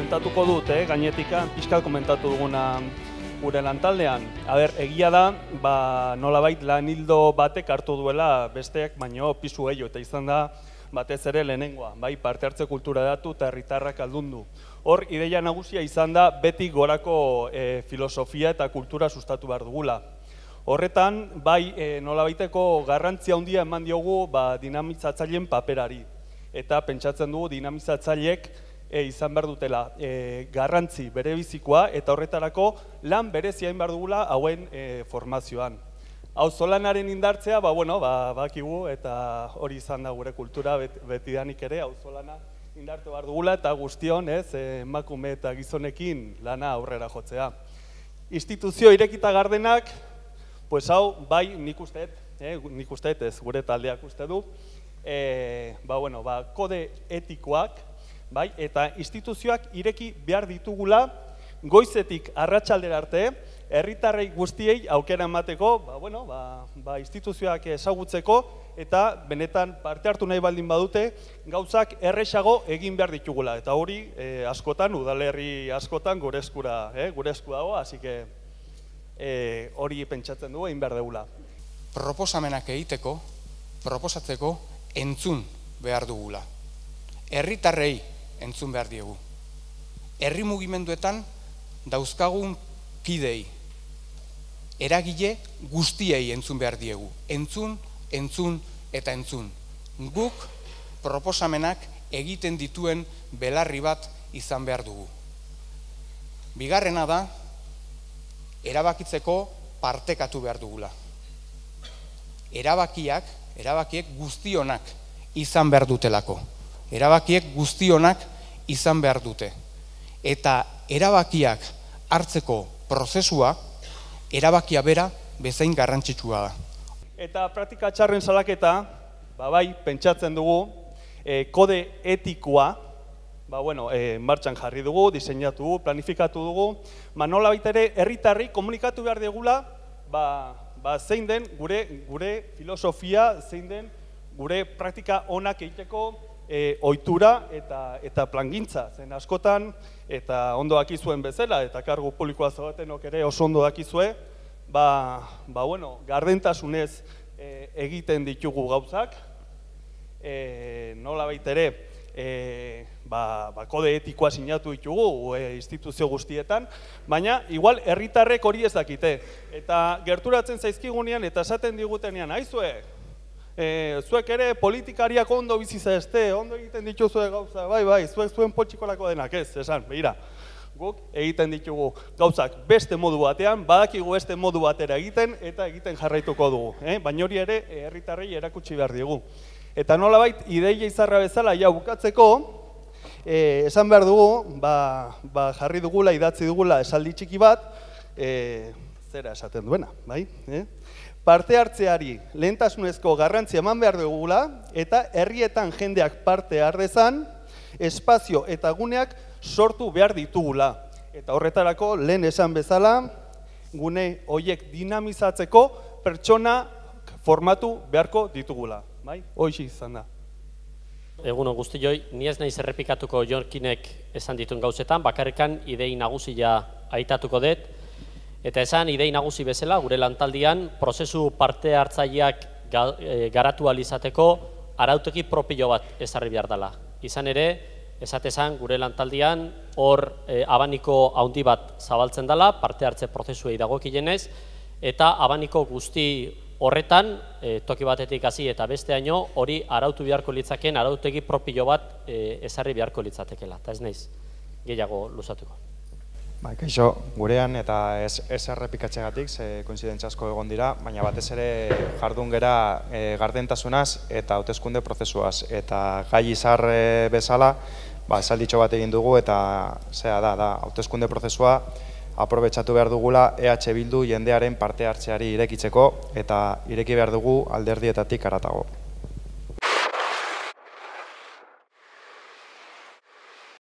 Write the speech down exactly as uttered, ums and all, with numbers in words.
komentatuko dut, eh, gainetika, pixkat komentatu duguna gure lantaldean. Aber, egia da, ba, nolabait lan hildo batek hartu duela besteak, baino pisu gehiago, eta izan da batez ere lehenengoa, bai, parte hartze kultura datu eta herritarrak aldundu. Hor, ideia nagusia izan da beti gorako e, filosofia eta kultura sustatu behar dugula. Horretan, bai, e, nolabaiteko garrantzia handia eman diogu ba, dinamizatzaileen paperari. Eta pentsatzen dugu dinamizatzaileek e, izan behar dutela e, garrantzi berebizikoa eta horretarako lan berezia egin behar dugula hauen e, formazioan. Auzolanaren indartzea, ba, bueno, ba, bakigu eta hori izan da gure kultura bet, betidanik ere, auzolana indartu behar dugula eta guztion, ez, emakume eta gizonekin lana aurrera jotzea. Instituzio irekita gardenak, pues hau, bai, nik usteet, eh, nik usteet ez, gure taldeak uste du, e, ba, bueno, ba, kode etikoak, bai, eta instituzioak ireki behar ditugula goizetik arratsaldera arte, herritarrei guztiei aukera emateko, ba, bueno, ba, ba, instituzioak ezagutzeko eta benetan parte hartu nahi baldin badute gauzak erresago egin behar ditugula. Eta hori eh, askotan, udalerri askotan gure eskura, eh, gure esku dago, hasi que eh, hori pentsatzen dugu egin behar dugula. Proposamenak egiteko, proposatzeko entzun behar dugula. Herritarrei entzun behar diegu. Herri mugimenduetan dauzkagun kidei, eragile guztiei entzun behar diegu. Entzun, entzun eta entzun. Guk proposamenak egiten dituen belarri bat izan behar dugu. Bigarrena da, erabakitzeko partekatu behar dugula. Erabakiak, erabakiek guztionak izan behar dutelako. Erabakiek guztionak izan behar dute. Eta erabakiak hartzeko prozesua, erabakia bera bezain garrantzitsua da. Eta praktika txarren salaketa, ba bai, pentsatzen dugu, e, kode etikoa, ba bueno, e, martxan jarri dugu, diseinatu dugu, planifikatu dugu, ma nola baita ere, herritarri komunikatu behar degula, ba, ba zein den gure, gure filosofia, zein den gure praktika onak egiteko e, ohitura eta, eta plangintza. Zen askotan, eta ondo dakizuen bezala, eta kargu publikoa zaudetenok ere oso ondo dakizue, ba, ba bueno, gardentasunez e, egiten ditugu gauzak, e, nola baita ere, e, ba, ba, kode etikoa sinatu ditugu e, instituzio guztietan, baina igual herritarrek hori ez dakite. Eta gerturatzen zaizkigunean eta esaten digutenean, aizue, e, zuek ere politikariak ondo biziza este, ondo egiten dituzue gauza, bai, bai, zuek zuen poltsikolako denak ez, esan, behira. Guk egiten ditugu gauzak beste modu batean, badakigu beste modu batera egiten eta egiten jarraituko dugu. Eh? Baina hori ere herritarrei erakutsi behar digu. Eta nolabait ideia izarra bezala ja bukatzeko, eh, esan behar dugu, ba, ba jarri dugula, idatzi dugula esaldi txiki bat, eh, zera esaten duena, bai? Eh? Parte hartzeari lehentasunezko garrantzia eman behar dugula eta herrietan jendeak parte har dezan, espazio eta guneak sortu behar ditugula. Eta horretarako lehen esan bezala, gune horiek dinamizatzeko pertsona formatu beharko ditugula. Bai? Hoxe izan da. Egunon guztioi, ni ez naiz errepikatuko Jorkinek esan dituen gauzetan, bakarrikan idei nagusia aitatuko dut, eta esan idei nagusi bezala, gure lantaldian, prozesu parte hartzaileak garatu ahal izateko arautegi propio bat ezarri behar dela. Izan ere, esatezan gure lantaldian hor e, abaniko handi bat zabaltzen dela, parte hartze prozesuei dagokienez, eta abaniko guzti horretan, e, toki batetik hasi eta besteaino, hori arautu beharko litzaken, arautegi propio bat e, ezarri beharko litzatekela. Eta ez naiz, gehiago luzatuko. Ba, kaixo, gurean eta ez, ez errepikatzegatik, ze koinzidentza asko egon dira, baina batez ere jardun gera e, gardentasunaz eta hauteskunde prozesuaz. Eta gai izar e, bezala, ba, esalditxo bat egin dugu eta zera da, da, hauteskunde prozesua aprobetxatu behar dugula E H Bildu jendearen parte hartzeari irekitzeko eta ireki behar dugu alderdietatik haratago.